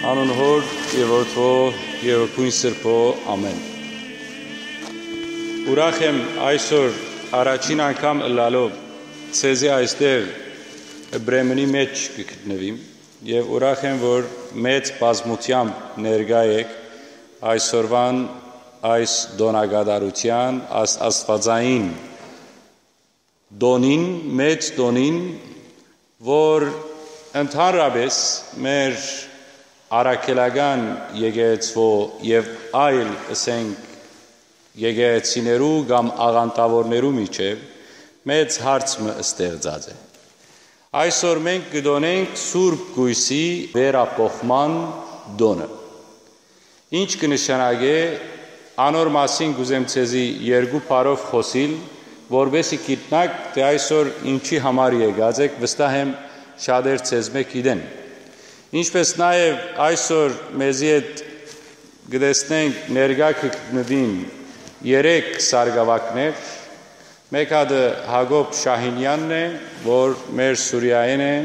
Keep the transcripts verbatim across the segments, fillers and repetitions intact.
Անուն Հօր եւ Որդի եւ Հոգիին Սրբի։ Ամէն։ Ուրախ եմ այսօր առաջին անգամ ըլլալով ձեզի այստեղ Բրեմենի մէջ կը գտնուիմ եւ ուրախ եմ, որ մեծ բազմութեամբ ներկայ եք այսօրվան այս տօնակատարութեան, այս աստուածային տօնին, մեծ տօնին, որ ընդհանրապէս մեր առաքելական եկեղեցւոյ եւ այլ, ըսենք, եկեղեցիներու կամ աղանդաւորներու միջեւ մեծ հարց մը ստեղծած է։ Այսօր մենք կը տօնենք Սուրբ Կոյսի վերափոխման տօնը։ Ինչ կը նշանակէ, անոր մասին կ'ուզեմ ձեզի երկու բառով խօսիլ, որպէսզի գիտնաք, թէ այսօր ինչի համար եկած եք, վստահ եմ, շատեր ձեզմէ գիտեն։ Ինչպէս նաեւ այսօր մեզի հետ կը տեսնենք, ներկայ կը գտնուին երեք սարկաւակներ, մէկ հատը Յակոբ Շահինեանն է, որ մեր Սուրիայէն է,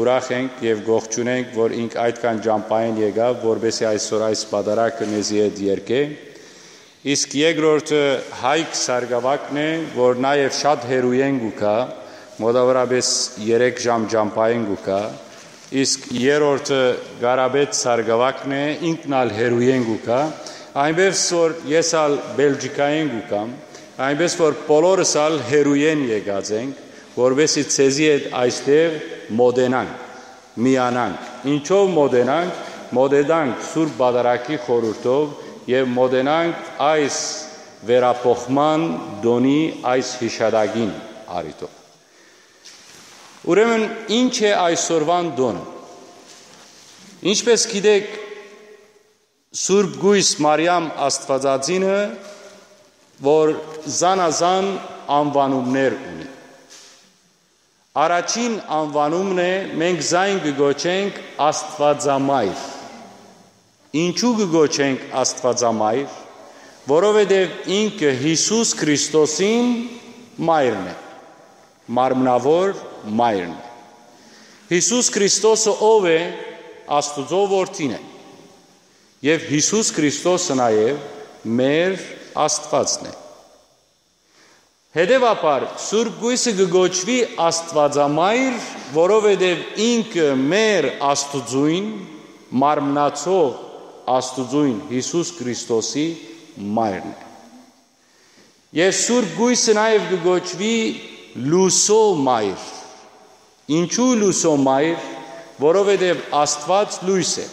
ուրախ ենք եւ կ'ողջունենք, որ ինք այդքան ճամբայէն եկաւ, որպէսզի այսօր այս պատարագը մեզի հետ երգէ։ Իսկ երկրորդը Հայկ սարկաւակն է, որ նաեւ շատ հեռուէն կու գայ, մօտաւորապէս երեք ժամ ճամբայէն կու գայ, իսկ երրորդը Կարապետ սարկաւակն է, ինքն ալ հեռուէն կու գայ, այնպէս որ ես ալ Բելգիքայէն կու գամ, այնպէս որ բոլորս ալ հեռուէն եկած ենք, որպէսզի ձեզի հետ այստեղ մօտենանք, միանանք։ Ինչո՞վ մօտենանք, մօտենանք Սուրբ Պատարագի խորհուրդով եւ մօտենանք այս վերափոխման տօնի այս յիշատակին առիթով։ Ուրեմն, ի՞նչ է այսօրուան տօնը։ Ինչպէս գիտեք, Սուրբ Կոյս Մարիամ Աստուածածինը, որ զանազան անուանումներ ունի։ Առաջին անուանումն է, մենք զայն կը կոչենք Աստուածամայր։ Ինչու կը կոչենք Աստուածամայր, որովհետեւ ինքը Յիսուս Քրիստոսին մայրն է, մարմնաւոր մայրն է։ Յիսուս Քրիստոսը ո՞վ է, Աստուծոյ որդին է։ Եւ Յիսուս Քրիստոսը նաեւ մեր Աստուածն է։ Հետեւաբար, Սուրբ Կոյսը կը կոչուի Աստուածամայր, որովհետեւ ինքը մեր Աստուծոյն, մարմնացող Աստուծոյն Յիսուս Քրիստոսի մայրն է։ Եւ Սուրբ Կոյսը նաեւ կը կոչուի Լուսոյ մայր։ Ինչու Լուսոյ մայր, որովհետեւ Աստուած լոյս է։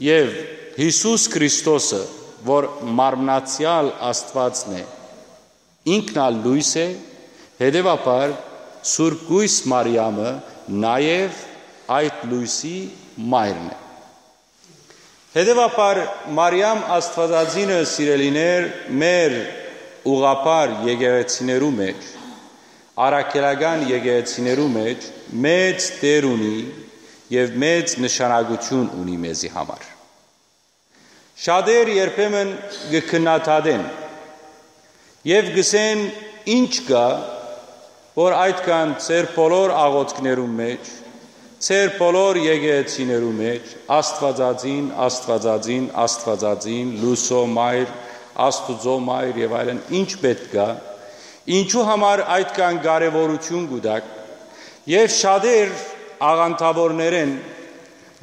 Եւ Յիսուս Քրիստոսը, որ մարմնացեալ Աստուածն է, ինքն ալ լոյս է, հետեւաբար Սուրբ Կոյս Մարիամը նաեւ այդ լոյսի մայրն է։ Հետեւաբար Մարիամ Աստուածածինը, սիրելիներ, մեր ուղղափառ եկեղեցիներու մէջ, առաքելական եկեղեցիներու մէջ մեծ դեր ունի եւ մեծ նշանակութիւն ունի մեզի համար։ Շատեր երբեմն կը քննադատեն եւ կ'ըսեն. «Ի՞նչ կայ, որ այդքան ձեր բոլոր աղօթքներու մէջ, ձեր բոլոր եկեղեցիներու մէջ Աստուածածին, Աստուածածին, Աստուածածին, Լուսոյ մայր, Աստուծոյ մայր եւ այլն, ի՞նչ պէտք կայ, ինչու համար այդքան կարեւորութիւն կու տաք»։ Եւ շատեր աղանդաւորներէն,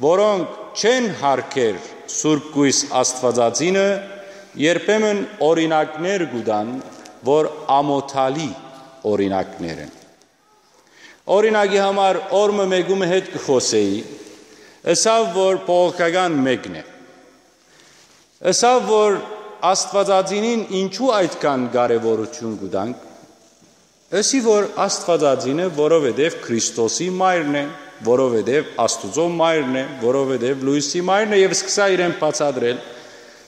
որոնք չեն յարգեր Սուրբ Կոյս Աստուածածինը, երբեմն օրինակներ կու տան, որ ամօթալի օրինակներ են։ Օրինակի համար, օր մը մէկու մը հետ կը խօսէի, ըսաւ, որ բողոքական մէկն է։ Ըսաւ, որ Աստուածածինին ինչու այդքան կարեւորութիւն կու տանք։ Ըսի, որ Աստուածածինը, որովհետեւ Քրիստոսի մայրն է, որովհետեւ Աստուծոյ մայրն է, որովհետեւ լոյսի մայրն է, եւ սկսա իրեն բացատրել.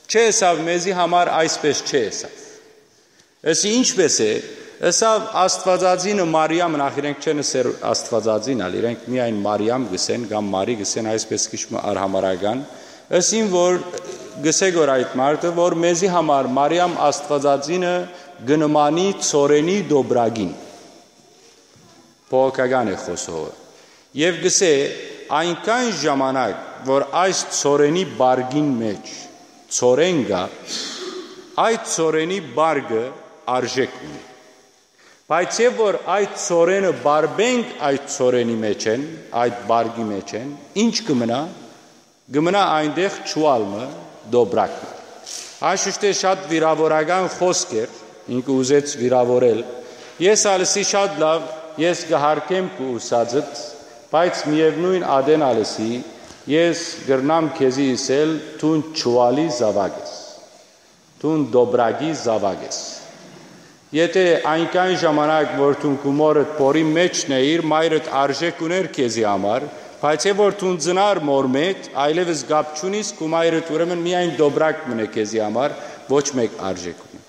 «Չէ, ըսաւ, մեզի համար այսպէս չէ», ըսաւ։ Ըսի, ինչպէս է, ըսաւ, Աստուածածինը Մարիամ, նախ իրենք չեն ըսեր Աստուածածին ալ, իրենք միայն Մարիամ գսեն կամ Մարի գսեն, այսպէս քիչ մը արհամարական, ըսին որ գսեք որ այդ մարդը, որ մեզի համար Մարիամ Աստուածածինը կը նմանի ցորենի դոբրագին, բողոքական է խօսողը, եւ գսէ. «Այնքան ժամանակ որ այս ցորենի բարգին մէջ ցորեն կայ, այդ ցորենի բարգը արժեք ունի։ Բայց եւ որ այդ ցորենը բարբենք այդ ցորենի մեջ են, այդ բարգի մեջ են, ինչ կը մնայ, կը մնայ այնտեղ չուալ մը, դոբրակ մը»։ Անշուշտ է շատ վիրաւորական խօսք էր, ինքը ուզեց վիրաւորել։ Ես ալ ըսի. «Շատ լաւ, ես կը հարգեմ քու ուսածդ, բայց միեւնոյն ատեն ալ ըսի, ես կրնամ քեզի ըսել, դուն չուալի զաւակ ես, դուն դոբրագի զաւակ ես։ Եթե այնքան ժամանակ որ դուն քու մորդ փորի մէջն էիր, մայրդ արժեք ունէր քեզի համար, բայց է որ դուն ծնար մոր մէջ, այլեւս կապ չունիս, քու մայրդ ուրեմն միայն դոբրակ մնե քեզի համար, ոչ մէկ արժեք ունի»։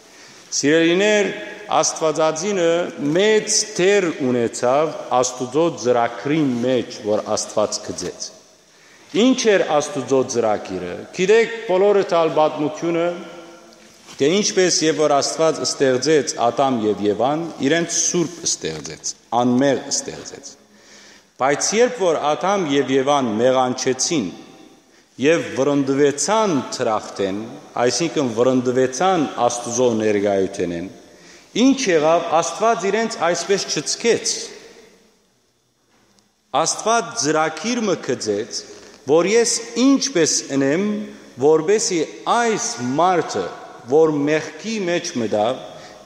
Սիրելիներ, Աստուածածինը մեծ դեր ունեցաւ Աստուծոյ ծրագրին մէջ, որ Աստուած գծեց։ Ինչ էր Աստուծոյ ծրագիրը։ Գիտեք, բոլորը տալ պատմությունը, թէ ինչպես եւ որ Աստուած ստեղծեց Ատամ եւ Եվան, իրենց սուրբ ստեղծեց, անմեղ ստեղծեց։ Բայց երբ որ Ատամ եւ Եվան մեղանչեցին եւ վրընդուեցան դրախտէն, այսինքն վրընդուեցան Աստուծոյ ներկայութենէն, ինչ եղաւ, Աստուած իրենց այսպես չցկեց։ Աստուած ծրագիր մը գծեց, որ ես ինչպես ընեմ, որպեսի այս մարդը, որ մեղքի մեջ մտաւ,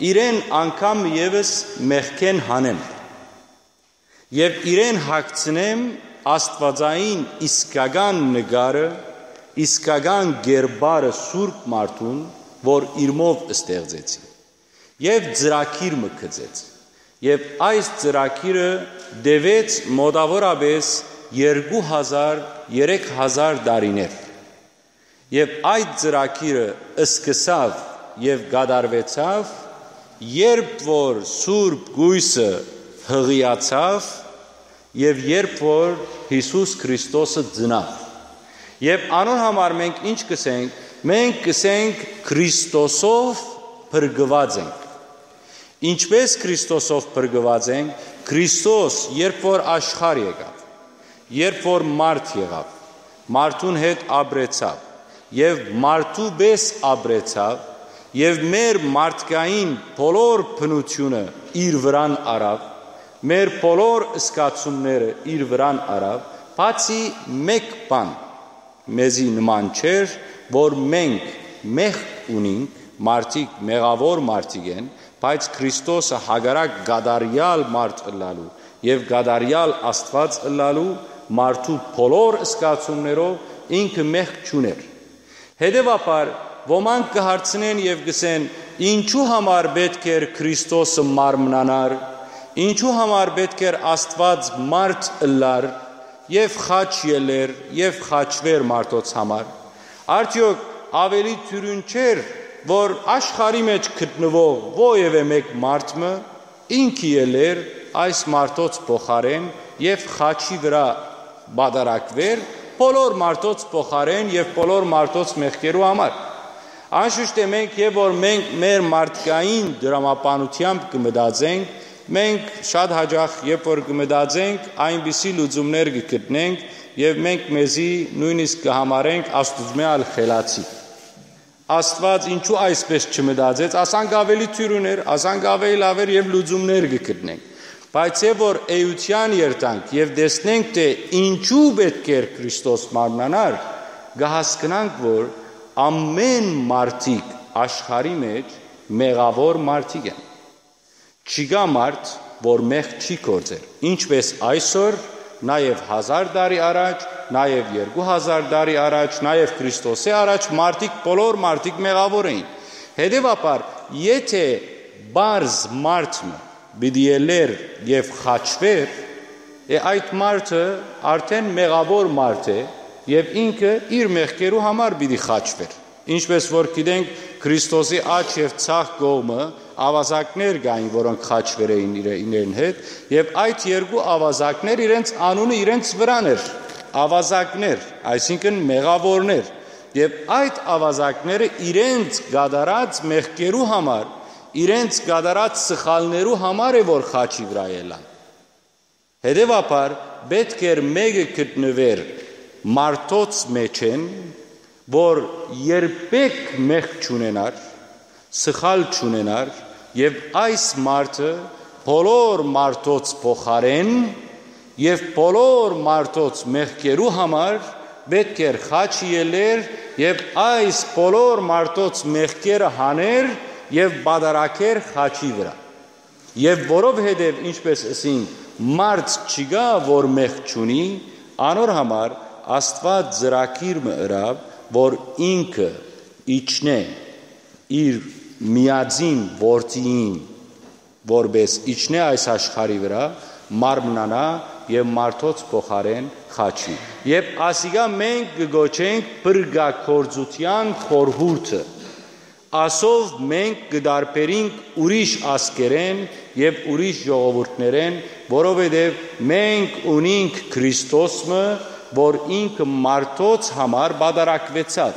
իրեն անգամ եւս մեղքէն հանեմ եւ իրեն հագցնեմ աստուածային իսկական նկարը, իսկական կերպարը սուրբ մարդուն, որ իրմով ստեղծեցի։ Եւ ծրագիր մը գծեց։ Եւ այս ծրագիրը տեւեց մոտավորապես երկու հազար, երեք հազար տարիներ։ Եւ այդ ծրագիրը սկսաւ եւ կատարուեցաւ, երբ որ Սուրբ Կոյսը հղիացաւ եւ երբ որ Յիսուս Քրիստոսը ծնաւ։ Եւ անոր համար մենք ինչ կ'ըսենք։ Մենք կ'ըսենք. «Քրիստոսով փրկուած ենք»։ Ինչպես Քրիստոսով փրկուած ենք։ Քրիստոս, երբ որ աշխարհ եկաւ, երբ որ մարդ եղաւ, մարդուն հետ ապրեցաւ եւ մարդու պես ապրեցաւ, եւ մեր մարդկային բոլոր բնությունը իր վրան առաւ, մեր բոլոր զգացումները իր վրան առաւ, բացի մէկ բան մեզի նման չէր, որ մենք մեղք ունինք, մարդիկ մեղաւոր մարդիկ են, բայց Քրիստոսը հակառակ կատարեալ մարդ ըլլալու եւ կատարեալ Աստուած ըլլալու, մարդու բոլոր զգացումներով ինքը մեղք չունէր։ Հետեւաբար, ոմանք կը հարցնեն եւ կ'ըսեն. «Ինչու համար պէտք էր Քրիստոսը մարմնանար, ինչու համար պէտք էր Աստուած մարդ ըլլար եւ խաչ ելլեր եւ խաչուէր մարդոց համար։ Արդեօք աւելի դիւրին չէր, որ աշխարհի մէջ գտնուող որեւէ մէկ մարդ մը ինքը ելլեր այս մարդոց փոխարէն եւ խաչի վրայ պատարագուէր բոլոր մարդոց փոխարէն եւ բոլոր մարդոց մեղքերու համար»։ Անշուշտ է, մենք եւ որ մենք մեր մարդկային դրամաբանութեամբ կը մտածենք, մենք շատ հաճախ, երբ որ կը մտածենք, այնպիսի լուծումներ կը գտնենք եւ մենք մեզի նոյնիսկ կը համարենք Աստուծմէ ալ խելացի։ Աստուած ինչու այսպես չմտածեց, ասանկ աւելի դիւրին էր, ասանկ աւելի լաւ էր եւ լուծումներ կը գտնենք։ Բայց եւ որ էութեան երթանք եւ տեսնենք, թէ ինչու պէտք էր Քրիստոս մարմնանար, կը հասկնանք, որ ամէն մարդիկ աշխարհի մէջ մեղաւոր մարդիկ են։ Չկայ մարդ, որ մեղք չի գործեր, ինչպես այսօր, նաեւ հազար տարի առաջ, նաեւ երկու հազար տարի առաջ, նաեւ Քրիստոսի առաջ մարդիկ, բոլոր մարդիկ մեղաւոր էին։ Հետեւաբար, եթե պարզ մարդ մը պիտի ելլեր եւ խաչուէր, Է, այդ մարդը արդեն մեղաւոր մարդ է եւ ինքը իր մեղքերու համար պիտի խաչուէր։ Ինչպէս որ գիտենք, Քրիստոսի աջ եւ ձախ կողմը աւազակներ կային, որոնք խաչուեր էին իրեն հետ, եւ այդ երկու աւազակներ իրենց անունը իրենց վրան էր, աւազակներ, այսինքն՝ մեղաւորներ։ Եւ այդ աւազակները իրենց կատարած մեղքերու համար, իրենց կատարած սխալներու համար է, որ խաչի վրայ ելան։ Հետեւաբար, պէտք էր մէկը գտնուէր մարդոց մէջէն, որ երբեք մեղք չունենար, սխալ չունենար, եւ այս մարդը բոլոր մարդոց փոխարէն եւ բոլոր մարդոց մեղքերու համար պէտք էր խաչի ելլեր եւ այս բոլոր մարդոց մեղքերը հաներ եւ պատարագեր խաչի վրայ։ Եւ որովհետեւ, ինչպէս ըսինք, մարդ չկայ, որ մեղք չունի, անոր համար Աստուած ծրագիր մը ըրաւ, որ ինքը իջնէ իր միածին որդիին, որպէս իջնէ այս աշխարհի վրայ, մարմնանայ եւ մարդոց փոխարէն խաչուի։ Եւ ասիկա մենք կը կոչենք փրկագործութեան խորհուրդը։ Ասով մենք կը տարբերինք ուրիշ ազգերէն եւ ուրիշ ժողովուրդներէն, որովհետեւ մենք ունինք Քրիստոս մը, որ ինքը մարդոց համար պատարագուեցաւ,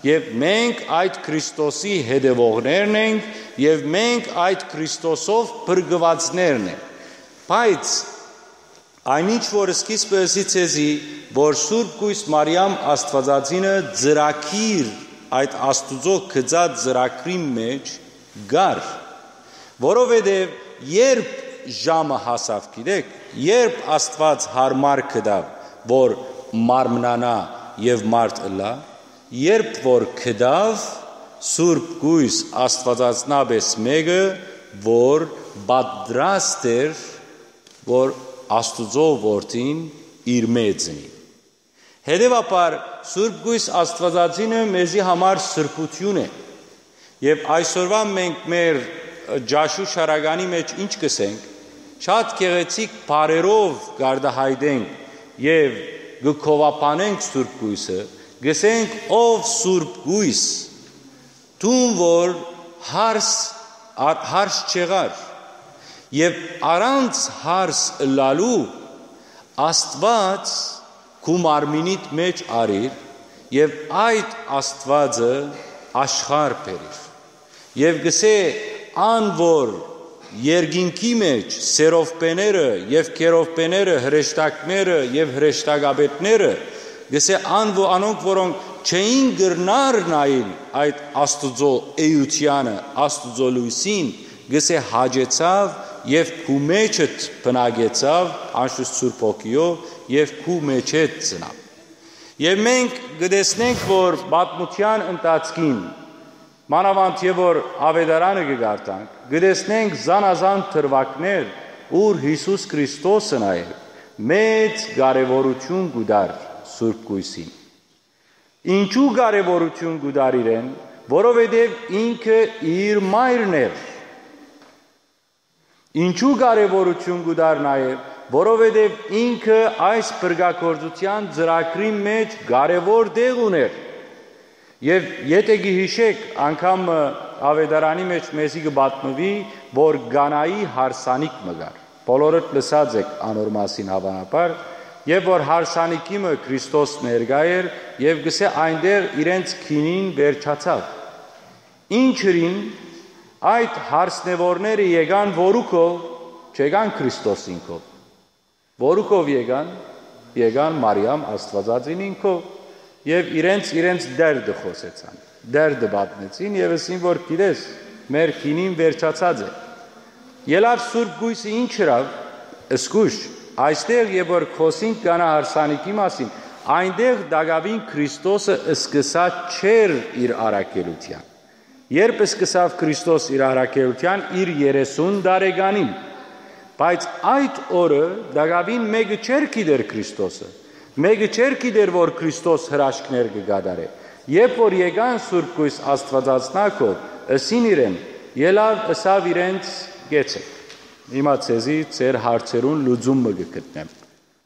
եւ մենք այդ Քրիստոսի հետեւողներն ենք եւ մենք այդ Քրիստոսով փրկուածներն ենք։ Բայց այն ինչ որ սկիզբը ըսի ձեզի, որ Սուրբ Կոյս Մարիամ Աստուածածինը ծրագիր, այդ Աստուծոյ գծած ծրագրին մէջ կար, որովհետեւ երբ ժամը հասաւ, գիտեք, երբ Աստուած յարմար գտաւ, որ մարմնանայ եւ մարդ ըլլայ, երբ որ գտաւ, Սուրբ Կոյս Աստուածածնապէս մէկը, որ պատրաստ էր, որ Աստուծոյ որդին իր մէ ծնի։ Հետեւաբար, Սուրբ Կոյս Աստուածածինը մեզի համար սրբութիւն է։ Եւ այսօրուան մենք մեր ճաշու շարականի մէջ ինչ կ'ըսենք, շատ գեղեցիկ բառերով կ'արտայայտենք եւ կը գովաբանենք Սուրբ Կոյսը, կ'ըսենք. «Ով Սուրբ Կոյս, դուն որ հարս, ա-, հարս չեղար, եւ առանց հարս ըլլալու Աստուած քու մարմինիդ մէջ առիր, եւ այդ Աստուածը աշխարհ բերիր»։ Եւ կ'ըսէ. «Ան որ երկինքի մէջ սերովբեները եւ քերովբեները, հրեշտակները եւ հրեշտակապետները», կ'ըսէ, ան, որ անոնք, որոնք չէին կրնար նայիլ այդ Աստուծոյ էութեանը, Աստուծոյ լոյսին, կ'ըսէ, հաճեցաւ եւ քու մէջդ բնակեցաւ անշուշտ Սուրբ Հոգիով եւ քու մէջդ ծնաւ։ Եւ մենք կը տեսնենք, որ պատմութեան ընթացքին, մանաւանդ եւ որ Աւետարանը կը կարդանք, կը տեսնենք զանազան դրուագներ, ուր Յիսուս Քրիստոսը նաեւ մեծ կարեւորութիւն կու տար Սուրբ Կոյսին։ Ինչու կարեւորութիւն կու տար իրեն, որովհետեւ ինքը իր մայրն էր։ Ինչու կարեւորութիւն կու տար նաեւ, որովհետեւ ինքը այս փրկագործութեան ծրագրին մէջ կարեւոր տեղ ունէր։ Եւ եթէ կը յիշէք, անգամ մը Աւետարանի մէջ մեզի կը պատմուի, որ Կանայի հարսանիք մը կար։ Բոլորդ լսած էք անոր մասին, հաւանաբար, եւ որ հարսանիքի մը Քրիստոս ներկայ էր եւ կ'ըսէ. «Այնտեղ իրենց գինին վերջացաւ»։ Ինչ ըրին, այդ հարսնեւորները եկան որուքով, չեկան Քրիստոսին քով։ Որուքով եկան, եկան Մարիամ Աստուածածին ինքով եւ իրենց, իրենց դերդը խօսեցան, դերդը պատմեցին եւ ըսին, որ գիտես, մեր գինին վերջացած է։ Ելաւ Սուրբ Կոյսը ինչ ըրաւ, զգուշ, այստեղ եւ որ խօսինք Կանա հարսանիքի մասին, այնտեղ տակաւին Քրիստոսը սկսած չէր իր առաքելութեան։ Երբ սկսաւ Քրիստոս իր առաքելութեան իր երեսուն տարեկանին, բայց այդ օրը տակաւին մէկը չէր գիտեր Քրիստոսը, մէկը չէր գիտեր, որ Քրիստոս հրաշքներ կը կատարէ։ Երբ որ եկան Սուրբ Կոյս Աստուածածնակով, ըսին իրեն, ելաւ, ըսաւ իրենց. «Գեցեք, հիմա ձեզի ձեր հարցերուն լուծում մը կը գտնեմ»։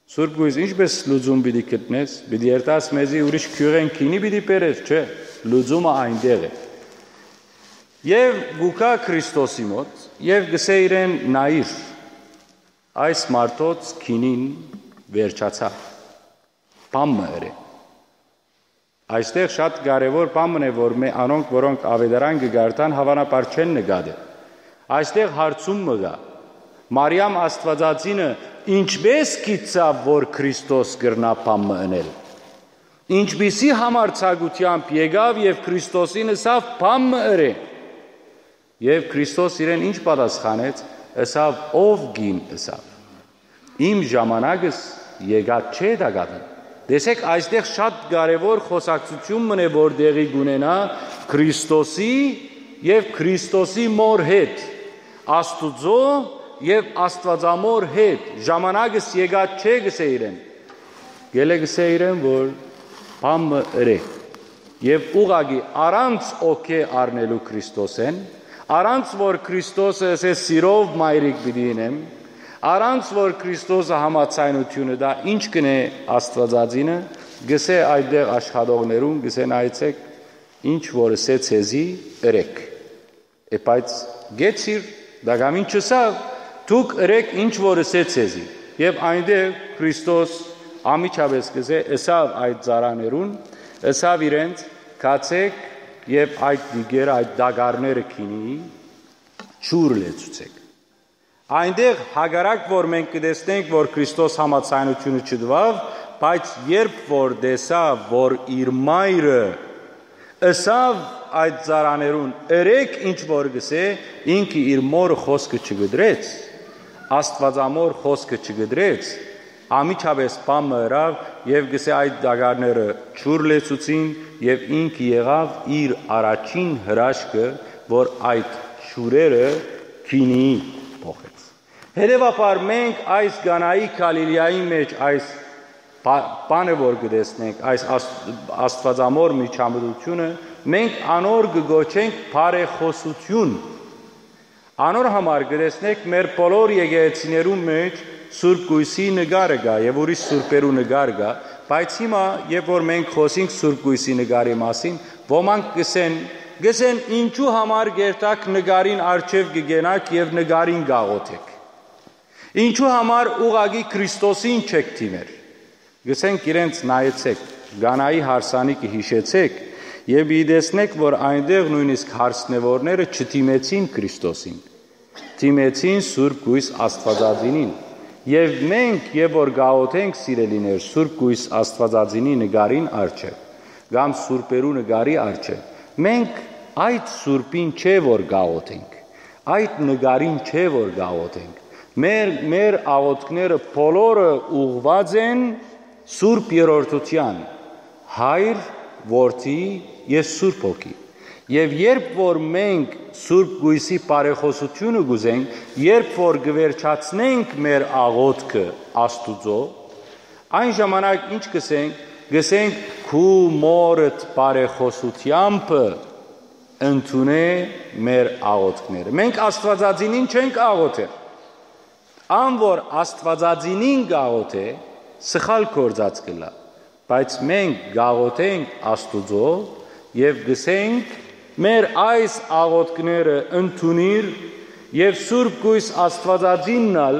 Սուրբ Կոյս, ինչպէս լուծում պիտի գտնես, պիտի երթաս մեզի ուրիշ գիւղէն գինի պիտի բերես, չէ, լուծումը այնտեղ է։ Եւ գուկա Քրիստոսի մոտ, եւ գսէ իրեն. «Նայիր, այս մարդոց գինին վերջացաւ, բան մը ըրէ»։ Այստեղ շատ կարեւոր բան մը է, որ մե անոնք, որոնք աւետարան կը կարդան, հաւանաբար չեն նկատել։ Այստեղ հարցում մը կա. Մարիամ Աստուածածինը ինչպէս գիտցաւ, որ Քրիստոս կրնայ բան մը ընել։ Ինչպիսի համարձակութեամբ եկաւ եւ Քրիստոսին ըսաւ. «Բան մը ըրէ»։ Եւ Քրիստոս իրեն ինչ պատասխանեց, ըսաւ. «Ով կին», ըսաւ, «իմ ժամանակս եկած չէ տակաւին»։ Տեսեք, այստեղ շատ կարեւոր խօսակցութիւն մը է, որ տեղի կունենայ Քրիստոսի եւ Քրիստոսի մոր հետ, Աստուծոյ եւ Աստուածամոր հետ։ «Ժամանակս եկած չէ», գսէ իրեն։ Գելէ գսէ իրեն, որ բան մը ըրէ։ Եւ ուղղակի առանց օգէ առնելու Քրիստոսէն, առանց որ Քրիստոսը ըսէ. «Սիրով մայրիկ պիտի ինեմ», առանց որ Քրիստոսը համաձայնութիւնը տայ, ինչ կ'ընէ Աստուածածինը, գսէ այդտեղ աշխատողներուն, գսէ. «Նայեցէք, ինչ որ ըսէ ձեզի, ըրէք»։ Է, բայց գեցիր, տակամին չըսաւ. «Դուք ըրէք ինչ որ ըսէ ձեզի»։ Եւ այնտեղ Քրիստոս անմիջապէս, կ'ըսէ, ըսաւ այդ ծառաներուն, ըսաւ իրենց. «Գացէք եւ այդ տիկերը, այդ տակառները գինի ջուր լեցուցէք»։ Այնտեղ հակառակ որ մենք կը տեսնենք, որ Քրիստոս համաձայնութիւնը չտուաւ, բայց երբ որ տեսաւ, որ իր մայրը ըսաւ այդ ծառաներուն. «Ըրէք ինչ որ կ'ըսէ», ինքը իր մօրը խօսքը չկտրեց, Աստուածամոր խօսքը չկտրեց, անմիջապէս բան մը ըրաւ եւ կ'ըսէ. «Այդ տակառները ջուր լեցուցին», եւ ինքը եղաւ իր առաջին հրաշքը, որ այդ ջուրերը գինի փոխեց։ Հետեւաբար մենք այս Կանայի Գալիլիայի մէջ այս բա-, բանը որ կը տեսնենք, այս Աստուածամոր միջամտութիւնը, մենք անոր կը կոչենք բարեխօսութիւն։ Անոր համար կը տեսնենք մեր բոլոր եկեղեցիներուն մէջ Սուրբ Կոյսի նկարը կայ եւ ուրիշ սուրբերու նկար կայ, բայց հիմա, երբ որ մենք խօսինք Սուրբ Կոյսի նկարի մասին, ոմանք կ'ըսեն, կ'ըսեն. «Ինչու համար կ'երթաք նկարին առջեւ կը կենաք եւ նկարին կ'աղօթէք։ Ինչու համար ուղղակի Քրիստոսին չէք դիմեր»։ Կ'ըսենք իրենց. «Նայեցէք, Կանայի հարսանիքը յիշեցէք եւ պիտի տեսնէք, որ այնտեղ նոյնիսկ հարսնեւորները չդիմեցին Քրիստոսին, դիմեցին Սուրբ Կոյս Աստուածածինին։ Եւ մենք, երբ որ կ'աղօթենք, սիրելիներ, Սուրբ Կոյս Աստուածածինի նկարին առջեւ կամ սուրբերու նկարի առջեւ, մենք այդ սուրբին չէ որ կ'աղօթենք, այդ նկարին չէ որ կ'աղօթենք։ Մեր, մեր աղօթքները բոլորը ուղղուած են Սուրբ Երրորդութեան, Հայր, Որդի եւ Սուրբ Հոգի։ Եւ երբ որ մենք Սուրբ Կոյսի բարեխօսութիւնը կ'ուզենք, երբ որ կը վերջացնենք մեր աղօթքը Աստուծոյ, այն ժամանակ ինչ կ'ըսենք, կ'ըսենք. «Քու մօրդ բարեխօսութեամբը ընդունէ մեր աղօթքները»։ Մենք Աստուածածինին չենք աղօթեր։ Ան որ Աստուածածինին կ'աղօթէ, սխալ գործած կ'ըլլայ, բայց մենք կ'աղօթենք Աստուծոյ եւ կ'ըսենք. «Մեր այս աղօթքները ընդունիր եւ Սուրբ Կոյս Աստուածածինն ալ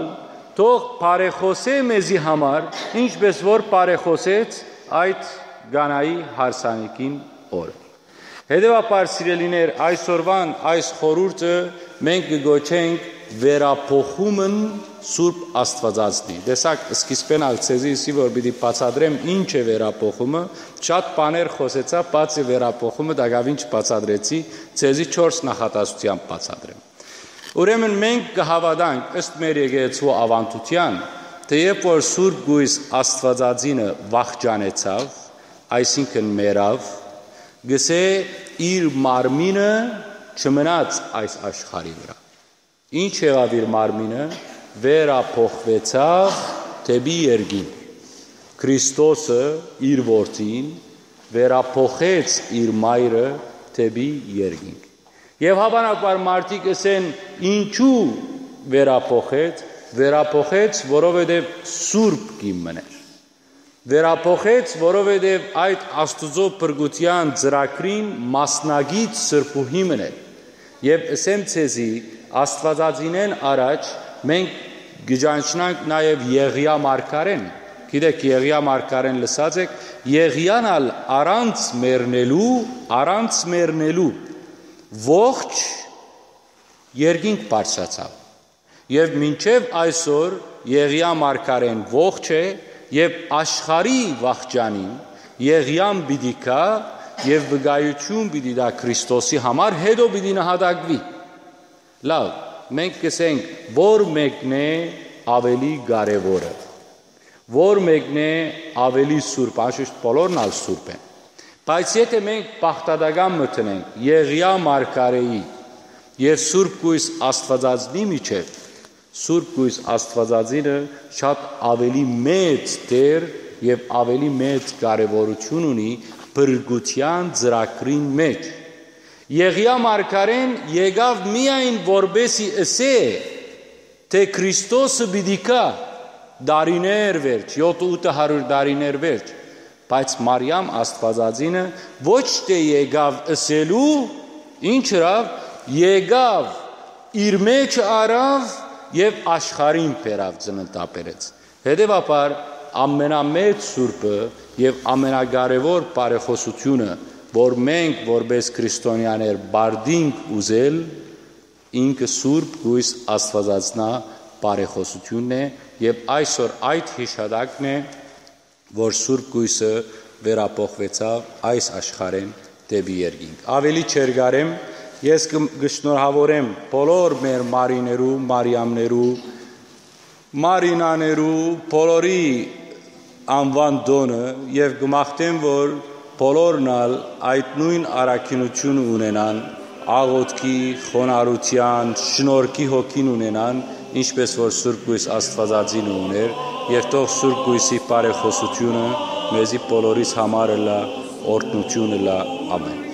թող բարեխօսէ մեզի համար, ինչպէս որ բարեխօսեց այդ Կանայի հարսանիքին օրը»։ Հետեւաբար, սիրելիներ, այսօրուան այս խորհուրդը մենք կը կոչենք վերափոխումն Սուրբ Աստուածածնի։ Տեսակ, սկիզբէն ալ ձեզի ըսի, որ պիտի բացատրեմ ինչ է վերափոխումը, շատ բաներ խօսեցայ, բացի վերափոխումը տակաւին չբացատրեցի, ձեզի չորս նախատասությամբ բացատրեմ։ Ուրեմն մենք կը հաւատանք, ըստ մեր եկեղեցու աւանդութեան, թէեւ որ Սուրբ Կոյս Աստուածածինը վախճանեցաւ, այսինքն՝ մեռաւ, կ'ըսէ, իր մարմինը չմնաց այս աշխարհի վրայ։ Ինչ եղաւ իր մարմինը, վերափոխուեցաւ դէպի երկինք։ Քրիստոսը, իր Որդին, վերափոխեց իր մայրը դէպի երկինք։ Եւ հաւանաբար մարդիկ ըսեն. «Ինչու՞ վերափոխեց»։ Վերափոխեց, որովհետեւ սուրբ կին մըն էր։ Վերափոխեց, որովհետեւ այդ Աստուծոյ փրկութեան ծրագրին մասնակից սրբուհի մըն էր։ Եւ ըսեմ ձեզի, Աստուածածինէն առաջ մենք կը ճանչնանք նաեւ Եղիա մարգարէն։ Գիտէք, Եղիա մարգարէն լսած էք, Եղիան ալ առանց մեռնելու, առանց մեռնելու ողջ երկինք բարձրացաւ։ Եւ մինչեւ այսօր Եղիա մարգարէն ողջ է, եւ աշխարհի վախճանին Եղիան պիտի գայ եւ վկայութիւն պիտի տայ Քրիստոսի համար, հետո պիտի նահատակուի։ Լաւ, մենք կ'ըսենք, որ մեկն է աւելի կարեւորը, որ մեկն է աւելի սուրբ, անշուշտ բոլորն ալ սուրբ են։ Բայց եթէ մենք բաղդատական մտնենք Եղիա մարգարէի եւ Սուրբ Կոյս Աստուածածնի միջեւ, Սուրբ Կոյս Աստուածածինը շատ աւելի մեծ դեր եւ աւելի մեծ կարեւորութիւն ունի փրկութեան ծրագրին մէջ։ Եղիա մարգարէն եկաւ միայն որպեսզի ըսէ, թէ Քրիստոսը պիտի գայ տարիներ վերջ, յոթ ութը հարիւր տարիներ վերջ, բայց Մարիամ Աստուածածինը ոչ թէ եկաւ ըսելու, ինչ ըրաւ, եկաւ, իր մէջը առաւ եւ աշխարհին բերաւ, ծննդաբերեց։ Հետեւաբար, ամենամեծ սուրբը եւ ամենակարեւոր բարեխօսութիւնը, որ մենք որպէս քրիստոնեաներ պարտինք ուզել, ինքը Սուրբ Կոյս Աստուածածնայ բարեխօսութիւնն է, եւ այսօր այդ յիշատակն է, որ Սուրբ Կոյսը վերափոխուեցաւ այս աշխարհէն դէպի երկինք։ Աւելի չերկարեմ, ես կը, կը շնորհաւորեմ բոլոր մեր Մարիներու, Մարիամներու, Մարինաներու, բոլորի անուան տօնը եւ կը մաղթեմ, որ բոլորն ալ այդ նոյն առաքինութիւնը ունենան, աղօթքի, խոնարհութեան, շնորհքի հոգին ունենան, ինչպէս որ Սուրբ Կոյս Աստուածածինը ունէր, եւ թող Սուրբ Կոյսի բարեխօսութիւնը մեզի բոլորիս համար ըլլայ, օրհնութիւն ըլլայ։ Ամէն։